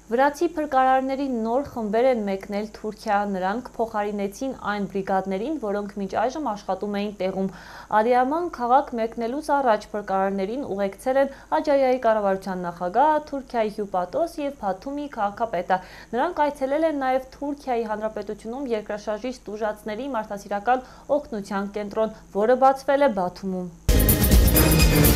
Վրացի փրկարարների նոր խմբեր են մեկնել Թուրքիա, նրանք փոխարինեցին այն բրիգադներին, որոնք մինչ այժմ աշխատում էին տեղում։ Ադիաման քաղաք մեկնելուց առաջ փրկարարներին ուղեկցել են Աջայայի կառավարության նախագահ, Թուրքիայի հյուպատոս եւ Բաթումի քաղաքապետը։ Նրանք այցելել են նաեւ Թուրքիայի Հանրապետությունում երկրաշարժից տուժածների մարդասիրական օգնության կենտրոն, որը բացվել է Բաթումում։